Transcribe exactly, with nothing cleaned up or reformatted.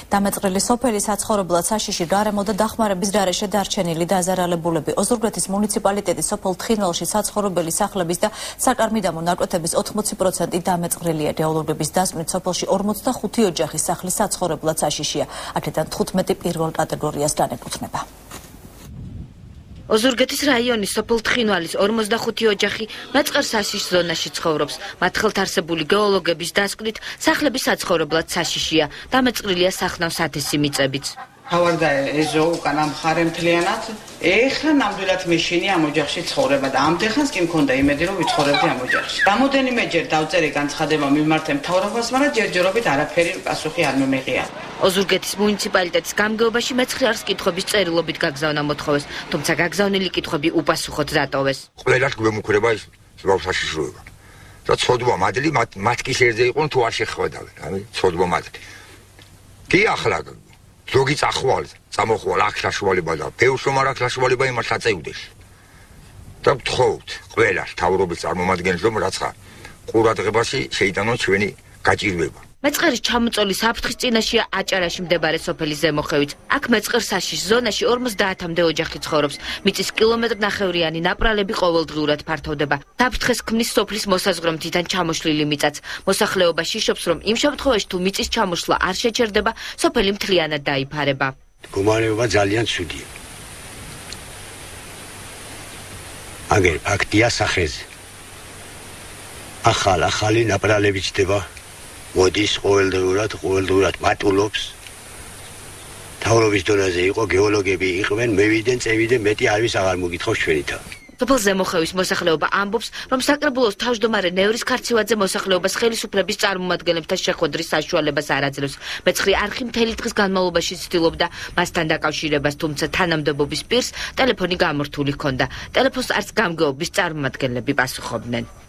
დამეწყრილი სოფელი საცხოვრებლად საშიში გარემო და დახმარების გარეშე დარჩენილი დაზარალებულები. ოზურგეთის მუნიციპალიტეტის სოფელ თხინვალში საცხოვრებელი სახლების და საკარმიდამო ნაკვეთების ოთხმოცი პროცენტი დამეწყრილია. რეალობების დასმით სოფელში ორმოცდახუთი ოჯახის სახლის საცხოვრებლად საშიშია. აქედან თხუთმეტი პირველ კატეგორიას განეკუთვნება. ოზურგეთის რაიონის სოფელ თხინვალის ორმოცდახუთი ოჯახი მეწყერ საშიშ ზონაში ცხოვრობს. მათ ხელთარსებული გეოლოგების დასკვნით სახლების საცხოვრებლად საშიშია. დამეწყრილია სახნავ სათესი მიწებიც. თავარდა ეზო უკან ამხარე მთლიანად. ეხლა ნამდვილად მეშინი ამ ოჯახში ცხოვრება და ამდენხანს კი მქონდა იმედი რომ ვიცხოვრებდი ამ ოჯახში. რამოდენიმეჯერ დავწერე განცხადება მიმართე მთავრობას, მაგრამ ჯერჯერობით არაფერი პასუხი არ მომეღია. ოზურგეთის მუნიციპალიტეტის გამგეობაში მეცხრე არს კითხვების წერილობით გაგზავნა მოთხოვეს, თუმცა გაგზავნილი კითხვები უპასუხოდ დატოვეს. ყველას გვემუქრება ის ზღვაო საშიშროება. და ცოდვა მადლი მათ კი შეერზე იყვნენ თუ არ შეხვედავენ, ამი ცოდვა მადლი. კი ახლა ზოგი წახვალ, წამოხვალ აქ საშუალება და ბევრს რომ არ აქვს საშუალება იმას აწევდეს. და ვთხოვთ ყველას თავრობის წარმომადგენლებს რომ რაცა ყურადღებაში შეიტანონ ჩვენი გაჭირვება. მეწყერის ჩამოწოლის საფრთხის წინაშეა აჭარაში მდებარე სოფელი ზემოხევიც. აქ მეწყერ საშიშ ზონაში ორმოცდაათამდე ოჯახი ცხოვრობს. მიწის კილომეტრნახევრიანი ნაპრალები ყოველდღიურად ფართოვდება. საფრთხეს ქმნის სოფლის მოსაზღვრე მთიდან ჩამოშლილი მიწაც. მოსახლეობა შიშობს, რომ იმ შემთხვევაში თუ მიწის ჩამოშლა არ შეჩერდება, სოფელი მთლიანად დაიფარება. მდგომარეობა ძალიან ცუდია. აგერ ფაქტია სახეზე. ახალ ახალი ნაპრალები ჩდება. მოდის ყოველდღიურად, ყოველდღიურად მატულობს. თავრობის დონეზე იყო გეოლოგები იყვნენ, მევიდენ, წევიდენ, მეტი არავის აღარ მოგითხოვს ჩვენითა. სოფელ ზემოხევის მოსახლეობა ამბობს, რომ საკრებულოს თავმჯდომარე ნევრის ქარცივაძე მოსახლეობას ხელისუფლების წარმომადგენლებთან შეხვედრის საშუალებას არ აძლევს. მეცხრე არხი მთელი დღის განმავლობაში ცდილობდა მასთან დაკავშირებას, თუმცა თანამდებობის პირს ტელეფონი გამორთული ჰქონდა. ტელეფონს არც გამგეობის წარმომადგენლები პასუხობდნენ.